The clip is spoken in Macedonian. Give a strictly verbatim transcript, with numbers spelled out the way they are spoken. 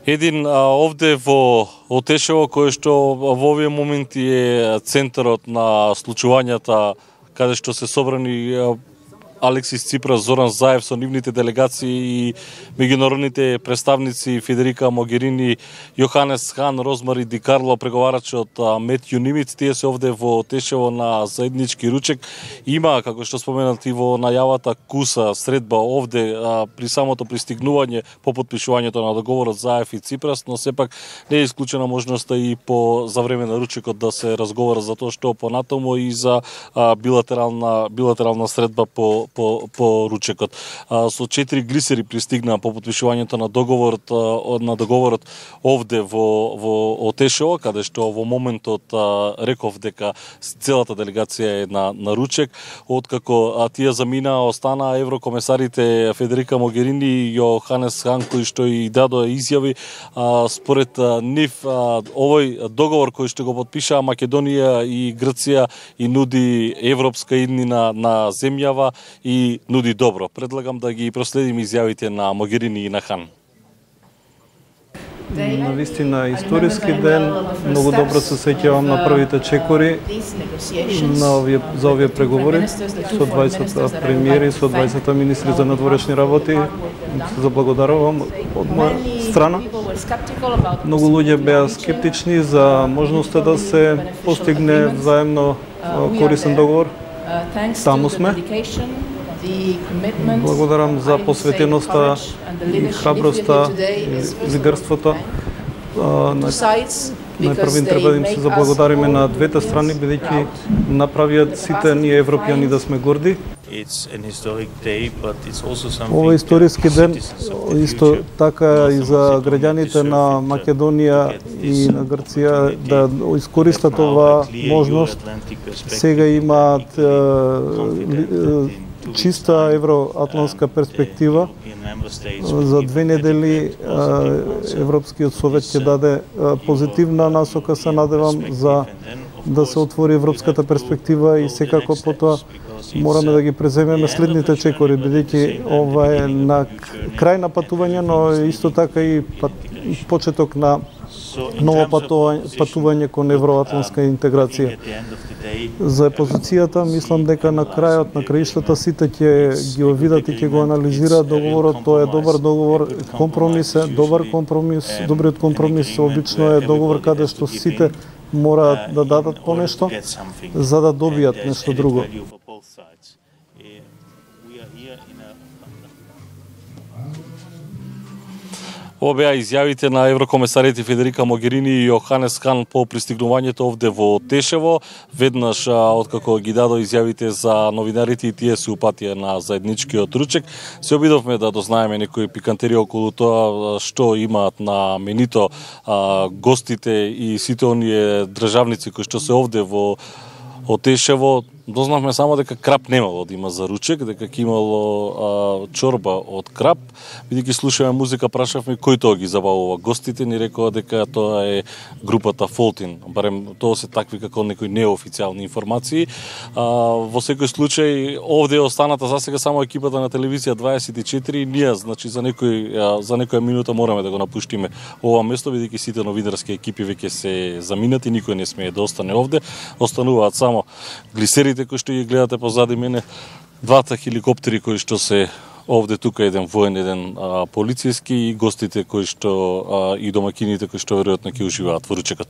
Един а, овде во Отешево, кој што во овие моменти е центарот на случувањата, каде што се собрани а, Алексис Ципрас, Зоран Заев со нивните делегации и меѓународните представници Федерика Могерини, Јоханес Хан, Розмари Ди Карло, преговарачот Мет Юнимиц, тие се овде во Тешево на заеднички ручек. Има, како што споменат и во најавата, куса, средба овде а, при самото пристигнување по подпишувањето на договорот Заев и Ципрас, но сепак не е исклучена можноста и по за време на ручекот да се разговара за тоа што понатаму и за а, билатерална билатерална средба по по по ручекот. А, со четири глисери пристигнаа по подпишувањето на договорот а, на договорот овде во во Отешево, каде што во моментот а, реков дека целата делегација е на на ручек, откако а, тие заминаа, останаа еврокомесарите Федерика Могерини и Јоханес Хан, кои што и дадоа изјави. А, според а, нив а, овој договор кој што го подпишаа Македонија и Грција и нуди европска иднина на земјава и нуди добро. Предлагам да ги проследим изјавите на Могерини и на Хан. На вистина историски ден, многу добро се сеќавам на првите чекори на овие, за овие преговори со дваесет премиери, со дваесет министри за надворешни работи. Се заблагодарувам од моја страна. Многу луѓе беа скептични за можноста да се постигне заемно корисен договор. Таму сме. Благодарам за посветеноста и храброста и лидерството. Најпрвин треба да им се заблагодариме на двете страни, бидејќи направиат сите ние европјани да сме горди. Ова е историски ден, исто така и за граѓаните на Македонија и на Грција да искористат оваа можност. Сега имаат чиста евроатлантска перспектива. За две недели Европскиот совет ќе даде позитивна насока, се надевам, за да се отвори европската перспектива и секако потоа мораме да ги преземеме следните чекори, бидејќи ова е на крај на патување, но исто така и почеток на ново патување, патување кон евроатлантска интеграција. За позицијата, мислам дека на крајот на краиштата сите ќе ги видат и ќе го анализираат договорот. Тоа е добар договор, компромис е, добар компромис. Добриот компромис обично е договор каде што сите мораат да дадат по нешто за да добијат нешто друго. Ова беа изјавите на еврокомесарите Федерика Могерини и Јоханес Хан по пристигнувањето овде во Тешево. Веднаш откако ги дадо изјавите за новинарите и тие се упатија на заедничкиот ручек, се обидовме да дознаеме некои пикантерија околу тоа што имаат на менито а, гостите и сите оние државници кои што се овде во Отешево. Дознавме само дека крап немало да има за ручек, дека ќе имало а, чорба од крап. Бидејќи слушаме музика, прашавме кој тоа ги забавува гостите, ни рекоа дека тоа е групата Фолтин. Барем тоа се такви како некои неофицијални информации. А, во секој случај овде е останата за сега само екипата на телевизија дваесет и четири. Ние, значи за некој а, за некоја минута мораме да го напуштиме ова место, бидејќи сите новинарски екипи веќе се заминати, никој не смее да остане овде. Остануваат само глисерите кои што ги гледате позади мене, двата хеликоптери кои што се овде, тука еден воен, еден а, полициски, и гостите кои што а, и домакините кои што веројатно ќе уживаат во ручекот.